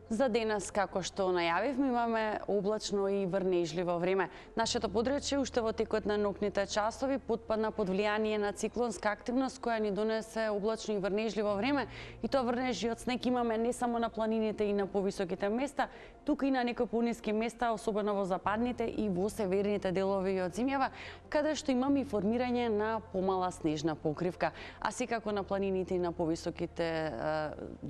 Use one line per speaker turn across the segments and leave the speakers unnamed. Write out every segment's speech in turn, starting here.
За денес, како што најавивме, имаме облачно и врнежливо време. Нашето подречје уште во текот на ноќните часови потпадна под влијание на циклонска активност која ни донесе облачно и врнежливо време, и тоа врнежи од снег имаме не само на планините и на повисоките места, туку и на некои пониски места, особено во западните и во северните делови од земјава, каде што имаме и формирање на помала снежна покривка. А секако на планините и на повисоките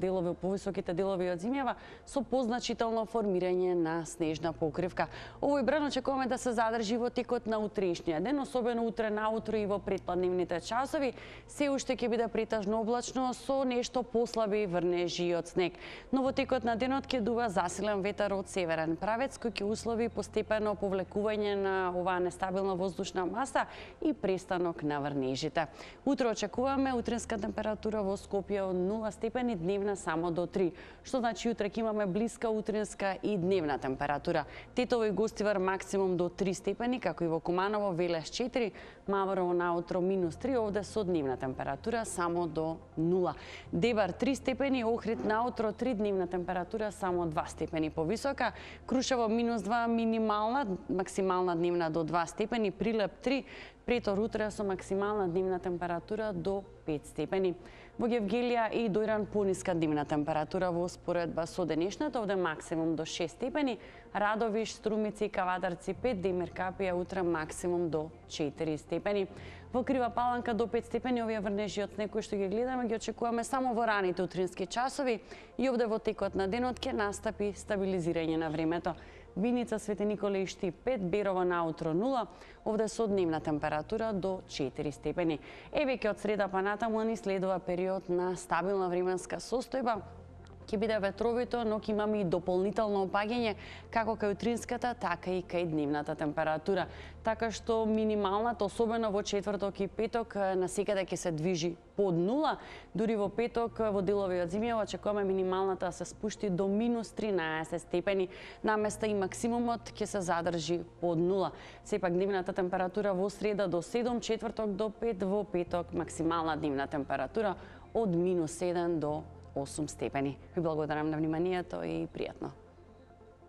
делови од земјава со позначително формирање на снежна покривка. Овој бран очекуваме да се задржи во текот на утрешниот ден, особено утре наутро и во предпладневните часови. Се уште ќе биде претежно облачно со нешто послаби врнежи од снег. Но во текот на денот ќе дува засилен ветер од северен правец кој ќе услови постепено повлекување на оваа нестабилна воздушна маса и престанок на врнежите. Утре очекуваме утринска температура во Скопје од 0 степени, дневна само до 3, што значи утре ќе имаме блиска утринска и дневна температура. Тетово и Гостивар максимум до 3 степени, како и во Куманово, Велес 4, Маврово наутро -3, овде со дневна температура само до 0. Дебар 3 степени, Охрид наутро 3, дневна температура само 2 степени повисока, Крушево -2 минимална, максимална дневна до 2 степени, Прилеп 3, Претор утре со максимална дневна температура до 5 степени. Во Гевгелија и Дојран пониска дневна температура во споредба со денешната, овде максимум до 6 степени, Радовиш, Струмици и Кавадарци 5, Демир Капија утре максимум до 4 степени. Во Крива Паланка до 5 степени, овие врнежи од снег кои што ги гледаме ги очекуваме само во раните утрински часови и овде во текот на денот ќе настапи стабилизирање на времето. Виница, Свети Николе и Штип 5, Берово наутро 0, овде со дневна температура до 4 степени. Веќе од среда па натаму ни следува период на стабилна временска состојба. Ќе биде ветровито, но ќе имаме и дополнително опаѓање како кај утринската, така и кај дневната температура. Така што минималната, особено во четврток и петок, насекаде ќе се движи под 0. Дури во петок во делови од земјава очекуваме минималната да се спушти до -13 степени. Наместа и максимумот ќе се задржи под 0. Сепак дневната температура во среда до 7, четврток до 5, во петок максимална дневна температура од -7 до 8 степени. Ви благодарам на вниманието и пријатно.